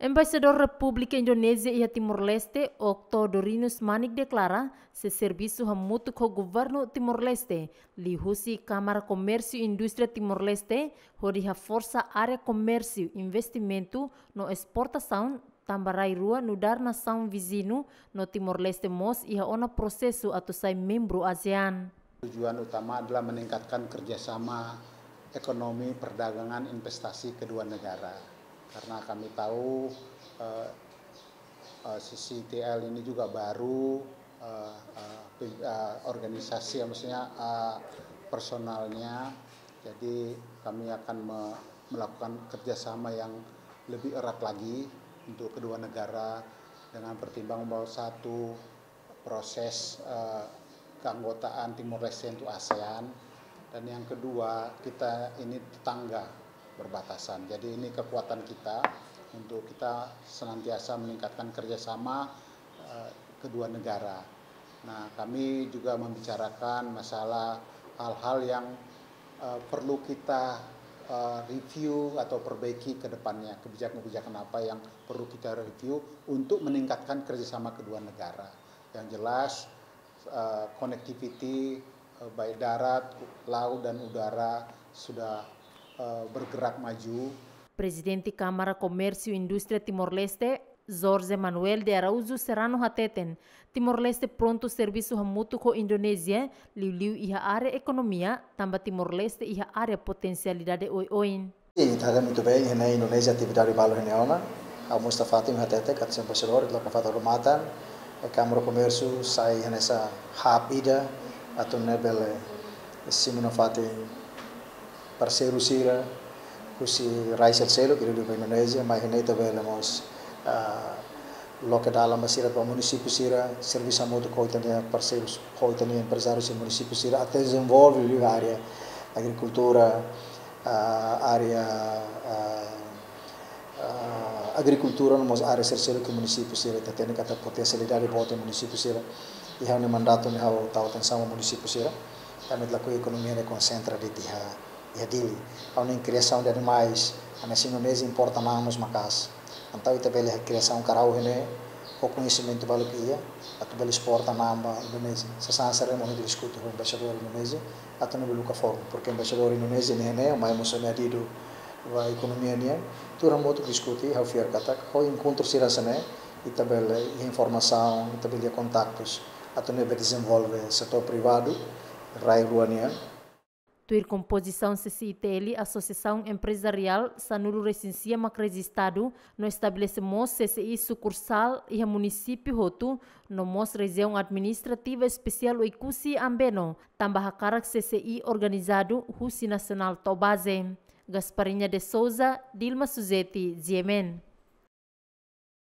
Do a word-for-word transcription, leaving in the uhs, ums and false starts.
Embaixadór Repúblika Indonézia iha Timor-Leste, Okto Dorinus Manik, deklara sei servisu hamutuk ho governu Timor-Leste, liuhusi Kámara Komérsiu Indústria Timor-Leste, hodi haforsa área komérsiu, investimentu no esportasaun, tanba rai rua nu'udar nasaun viziñu no Timor-Leste mós iha ona prosesu atu sai membru ASEAN. Tujuan utama adalah meningkatkan kerjasama ekonomi, perdagangan, investasi kedua negara. Karena kami tahu, eh, eh, C C I T L ini juga baru, eh, eh, pim-, eh, organisasi, maksudnya, eh, personalnya. Jadi kami akan me-, melakukan kerjasama yang lebih erat lagi untuk kedua negara dengan pertimbangan bahwa satu, proses, eh, keanggotaan Timor Leste untuk ASEAN, dan yang kedua, kita ini tetangga berbatasan. Jadi ini kekuatan kita untuk kita senantiasa meningkatkan kerjasama, eh, kedua negara. Nah, kami juga membicarakan masalah hal-hal yang, eh, perlu kita, eh, review atau perbaiki ke depannya, kebijakan-kebijakan apa yang perlu kita review untuk meningkatkan kerjasama kedua negara. Yang jelas, eh, connectivity, eh, baik darat, laut, dan udara sudah, eh, bergerak maju. Prezidente Kámara Komérsiu Indústria Timor-Leste, Jorge Manuel de Araújo Serrano, hateten, Timor-Leste prontu servisu hamutuk ho Indonézia, liuliu iha área ekonomia, tanba Timor-Leste iha área potensialidade oioin. Sin, ita haree muito bem, iha ne'e Indonézia atividade balu iha ne'e ona. Ha'u mós ita fatin hatete, katak Embaixadór, ita loke fatin odamatan, eh, Kámara Komérsiu sai hanesan hub ida, atu nune'e bele simu nafatin parseiru sira husi rai seluk-seluk, liuliu ba Indonézia, mai iha ne'e ita bele mós, ah, loke dalan ba sira, ba munisípiu sira, servisu hamutuk ho ita-nia parseiru, ho ita-nia emprezáriu sira, munisípiu sira, atu dezenvolve liu área agrikultura, ah, área, ah, ah, agrikultura, no mós área seluk-seluk iha munisípiu sira, ita hatene katak potensialidade boot iha munisípiu sira. Iha ha'u-nia mandatu ne'e ha'u tau atensaun ba munisípiu sira, tanba ita lakohi ekonomia ne'e konsentra de'it iha, iha Dili. Ha'u hanoin kriasaun de animais, hanesan Indonézia importa na'an mós maka'as. Entaun ita bele kriasaun karau iha ne'e, ho koñesimentu balu ke iha, atu bele esporta na'an ba Indonézia. Sasán sira-ne'e mós ita diskute ho embaixadór Indonézia, atu nune'e bele buka forma, porke embaixadór Indonézia ne'e, ne'e, mai mós ami adidu ba ekonomia nian, tuir hamutuk diskute, ha'u fiar katak, ho enkontru sira hanesan ne'e, ita bele iha informasaun, ita bele iha kontaktus, atu nune'e bele dezenvolve setór privadu, rai rua nian. Tuir kompozisaun C C I T L, Asosiasaun Emprezariál sanulu-resin-sia mak rejistadu no estabelese mós C C I sukursál iha munisípiu hotu, no mós Rejiaun Administrativa Espesiál Oekusi Ambeno, tanba hakarak C C I organizadu husi nasionál to'o baze. Gasparinha de Souza, Dilma Suzeti, G M N.